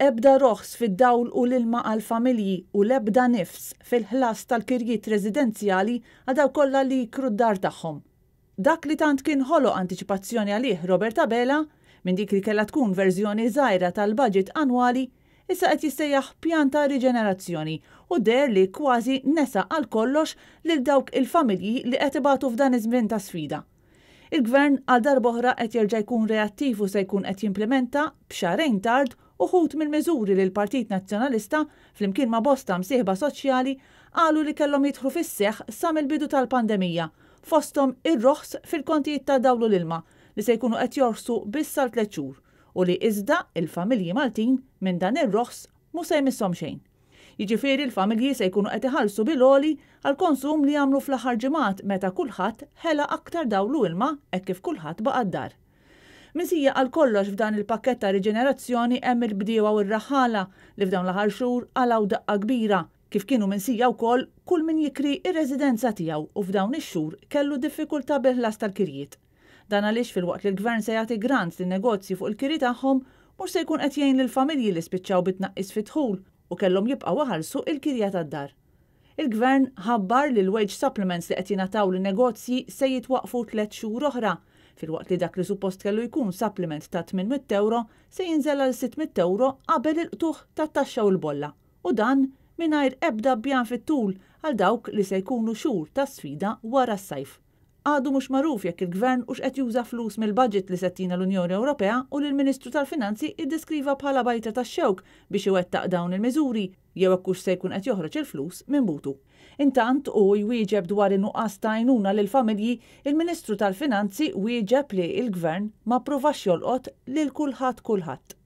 Ebda roħs fid-dawl u l-ilma għall-familji u l-ebda nifs fil-ħlas tal-kirjiet residenzjali għal dawk kollha li jikru d-dar tagħhom. Dak li tant kien ħoloq antiċipazzjoni għalih Robert Abela, minn dik li kellha tkun verżjoni żgħira tal-budget annwali, issa qed jissejjaħ pjan ta' riġenerazzjoni u deher li kważi nesa għal kollox lil dawk il-familji li qed ibatu f'dan iż-żmien ta' sfida. Il-Gvern għal darb'oħra qed jerġa' jkun reattiv u se jkun qed jimplimenta, b'xahrejn tard, uħud mill-miżuri li l-Partit Nazzjonalista, flimkien ma' bosta msieħba soċjali, qalu li kellhom jidħlu fis-seħħ sa mill-bidu tal-pandemija, fosthom ir-roħs fil-kontijiet tad-dawl u l-ilma li se jkunu qed jorħsu biss għal tlett xhur u li iżda il-familji Maltin minn dan ir-roħs mhu se jmisshom xejn. Jiġifieri l-familji se jkunu qed iħallsu bil-għoli għall-konsum li għamlu fl-aħħar ġimgħat meta kulħadd ħela aktar dawl u ilma hekk kif kulħadd baqa' d-dar. Minsija għal kollox f'dan il-pakkett ta' riġenerazzjoni hemm il-bdiewa u r-raħħala li f'dawn l-aħħar xhur qalgħu daqqa kbira, kif kienu minsija wkoll kull min jikri r-residenza tiegħu u f'dawn ix-xhur kellu diffikultà bil-ħlas tal-kirjiet. Dan għaliex filwaqt li l-Gvern se jagħti grants lin-negozji fuq il-kiri tagħhom, mhux se jkun qed jgħin lill-familji li spiċċaw bi tnaqqis fid-dħul u kellhom jibqgħu iħallsu il-kirja tad-dar. Il-Gvern ħabbar li l-wage supplements li qed jingħataw lin-negozji se jitwaqqfu tlett xhur oħra, filwaqt li dak li suppost kellu jkun supplement ta' 800 ewro se jinżel għal 600 ewro qabel il-qtugħ tat-taxxa u l-bolla, u dan mingħajr ebda pjan fit-tul għal dawk li se jkunu xhur ta' sfida wara s-sajf. Għadu mhux magħruf jekk il-Gvern hux qed juża flus mill-budget li se ttina l-Unjoni Ewropea u li l-Ministru tal-Finanzi iddeskriva bħala bajtra tax-xewk biex iwettaq dawn il-miżuri jew hekk hux se jkun qed joħroġ il-flus minn butu. Intant, u jwieġeb dwar in-nuqqas ta' għajnuna lill-familji, il-Ministru tal-Finanzi wieġeb li l-Gvern ma ppruvax jolqot lil kulħadd kulħadd.